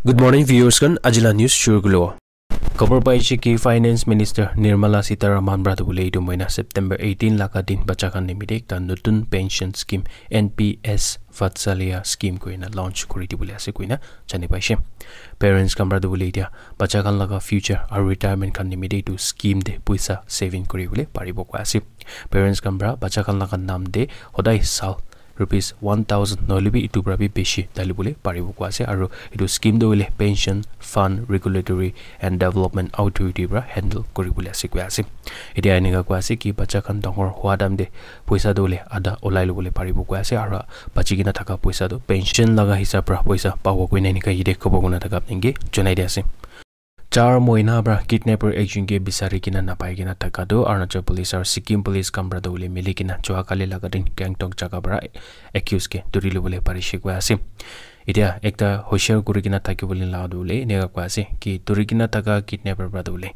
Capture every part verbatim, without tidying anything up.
Good morning, viewers khan. Ajila news shuru kulo. Khobor paise ki Finance Minister Nirmala Sitharaman para tu bole etu moina September eighteen laga din bacha khan nimite ekta notun pension scheme N P S Vatsalya scheme koina launch kuri dibole ase koina jani paise. Parents khan para tu bole etia bacha khan laga future aru retirement khan nimite etu scheme te puisa saving kuri bole paribo koi ase. Parents khan para bacha khan laga naam te hodai sal rupees one thousand nohole bi etu para bi beshi dali bole paribo koi ase. Aru etu scheme tu hoile Pension Fund Regulatory and Development Authority para handle kuri bole ase koi ase. Etia enika koi ase ki bacha khan dangor hua time te puisa tu hoile adha olai lo bole paribo koi ase. Aru bachi kena thaka puisa tu pension laga hisab para puisa pabo koina enika yate khobor kuna thaka apni ke janai di ase. Char moina para kidnapper ekjon ke bisari kena napai kena thaka tu Arunachal Police aru Sikkim Police khan para tu hoile mili kena jua kali laga din Gangtok jaga para accused ke duri lo bole parishe koi ase. Etia ekta hoshiar kuri kena thaki bole la tu hoile enika koi ase ki duri kena thaka kidnapper para tu hoile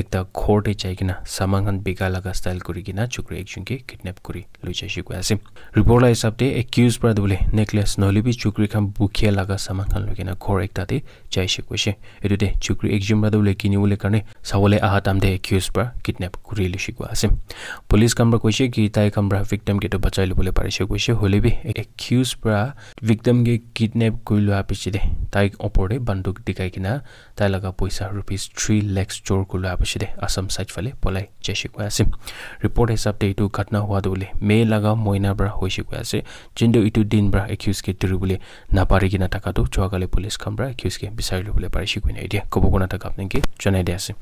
ekta ghor te jai kena saman khan bika laga style kuri kena chukri ekjon ke kidnap kuri loi jaise koi ase. Report la hisab te accused para tu hoile necklace nohole bi chukri khan bukhe laga saman khan loi kena ghor ekta te jaise koise. Etu te chukri ekjon para tu hoile kini bole karne sabole aha time te accused para kidnap kuri loise koi ase. Police khan para koise ki tai khan para victim ke tu bachai lo bole parishe koise, hoile bi accused para victim ke kidnap kuri loa piche te tai opor te banduk dikhai kena tai laga puisa rupees three lakhs chor kuri loa piche te Assam side phale polai jaise koi ase. Report hisab te etu ghatna hua tu hoile May laga moina para hoise koi ase. Jintu etu din para accused ke duri bole napari kena thaka tu jua kali police khan para accused ke bisari lo bole parishe koina etia khobor kuna thaka apni ke janai di ase.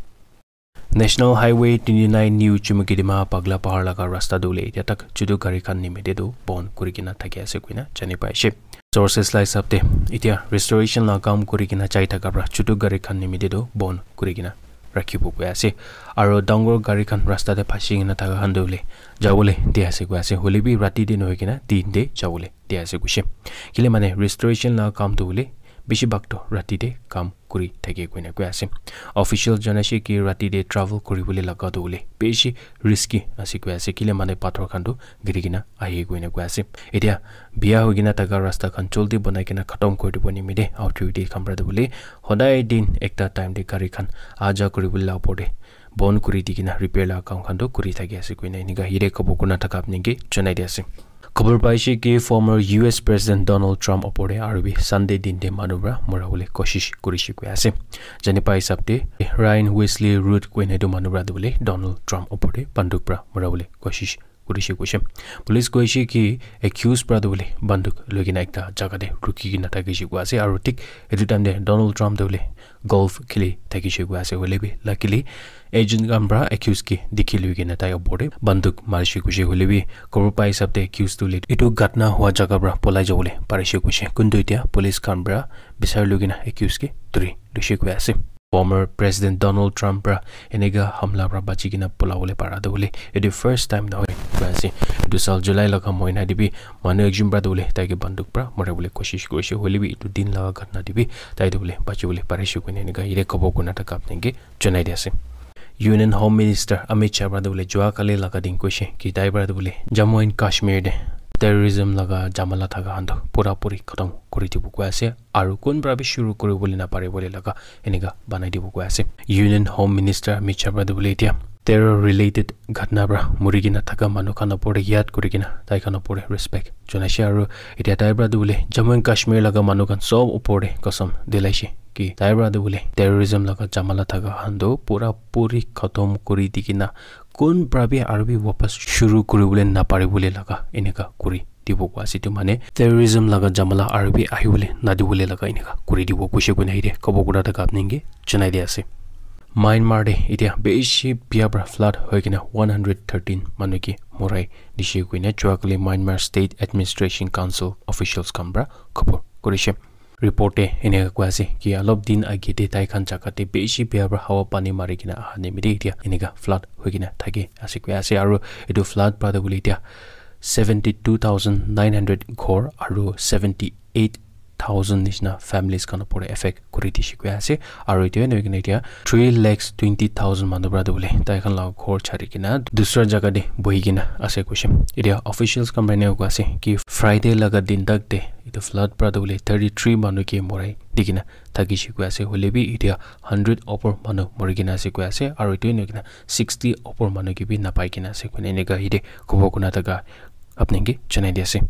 National Highway twenty-nine New Chumukedima Pagla Pahar laga rasta tu hoile etia tak chutu gari khan nimite tu bon kuri kena thaki ase koina jani paise. Sources la hisab te etia restoration la kam kuri kena jai thaka para chutu gari khan nimite tu bon kuri kena rakhibo koi ase. Aru dangor gari khan rasta te phasi kena thaka khan tu hoile jabole di ase koi ase. Hoile bi rati te nohoi kena din te jabole di ase koise. Kile mane restoration la kam tu hoile bishi bhag tu rati te kam kuri thake koina koi ase. Official janaise ki rati te travel kuri bole laga tu hoile bishi risky ase koi ase. Kile mane pathor khan tu giri kena ahi koina koi ase. Etia bia hoi kena thaka rasta khan joldi banai kena khatam kuri dibo nimite authority khan para tu hoile hodai din ekta time te gari khan aja kuri bole la opor te bon kuri di kena repair la kam khan tu kuri thaki ase koina enika yate khobor kuna thaka apni ke janai di ase. Khobor paise ki former U S President Donald Trump opor te aru bi Sunday din te manu para mora bole koshish kurishe koi ase. Jani pa hisab te Ryan Wesley Root koina etu manu para tu bole Donald Trump opor te banduk para mora bole koshish kurishe koise. Police koise ki accused para tu bole banduk loi kena ekta jaga te ruki kena thakishe koi ase aru thik etu time te Donald Trump tu bole golf kheli thakishe koi ase. Hoile bi luckily agent khan para accused ke dikhi loi kena tai opor te banduk marishe koise. Hoile bi khobor pa hisab te accused tu hoile etu ghatna hua jaga para polai jabole parishe koise. Kuntu etia police khan para bisari loi kena accused ke duri loishe koi ase. Former President Donald Trump para enika hamla para bachi kena polabole para tu hoile etu first time nohoi koi ase. Etu sal July laga moina te bi manu ekjon para tu hoile tai ke banduk para mora bole koshish kurishe. Hoile bi etu din laga ghatna te bi tai tu hoile bachi bole parishe koina enika yate khobor kuna thaka apni ke janai di ase. Union Home Minister Amit Shah para tu hoile jua kali laga din koise ki tai para tu hoile Jammu and Kashmir te terrorism laga jamala thaka khan tu pura puri khatam kuri dibo koi ase. Aru kun para bi shuru kuri bole napari bole laga enika banai dibo koi ase. Union Home Minister Amit Shah para tu hoile etia terror related ghatna para muri kena thaka manu khan opor te yad kuri kena tai khan opor te respect janaise. Aru etia tai para tu hoile Jammu and Kashmir laga manu khan sob opor te kasam dilaise ki tai para tu hoile terrorism laga jamala thaka khan tu pura puri khatam kuri di kena kun para bi aru bi wapas shuru kuri bole napari bole laga enika kuri dibo koi ase. Etu mane terrorism laga jamala aru bi ahi bole nadi bole laga enika kuri dibo koise koina yate khobor kuna thaka apni ke janai di ase. Myanmar te etia bishi bia para flood hoi kena one hundred thirteen manu ke morai dishe koina jua kali Myanmar State Administration Council officials khan para khobor kurishe. Report te enika koi ase ki olop din age te tai khan jaga te bishi bia para hawa pani mari kena aha nimite etia enika flood hoi kena thaki ase koi ase. Aru etu flood para tu hoile etia seventy two thousand nine hundred ghor aru seventy eight thousand nishina families khan opor te affect kuri dishe koi ase. Aru etia nohoi kena etia three lakhs twenty thousand manu para tu hoile tai khan laga ghor chari kena dusra jaga te bohi kena ase koise. Etia officials khan para enika koi ase ki Friday laga din tak te Etu flood para tu bole thirty three manu ke morai di kena thakishe koi ase, hoile bi etia hundred opor manu mori kena ase koi ase, aru etu eneka sixty opor manu ke bi napai kena ase koina eneka yate khobor kuna thaka apni ke janai di ase.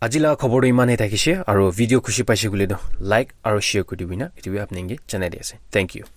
Aji la khobor tu iman he thakishe, aru video khushi paishe koile tu like aru share kuri dibi na, etu bi apni ke janai di ase. Thank you.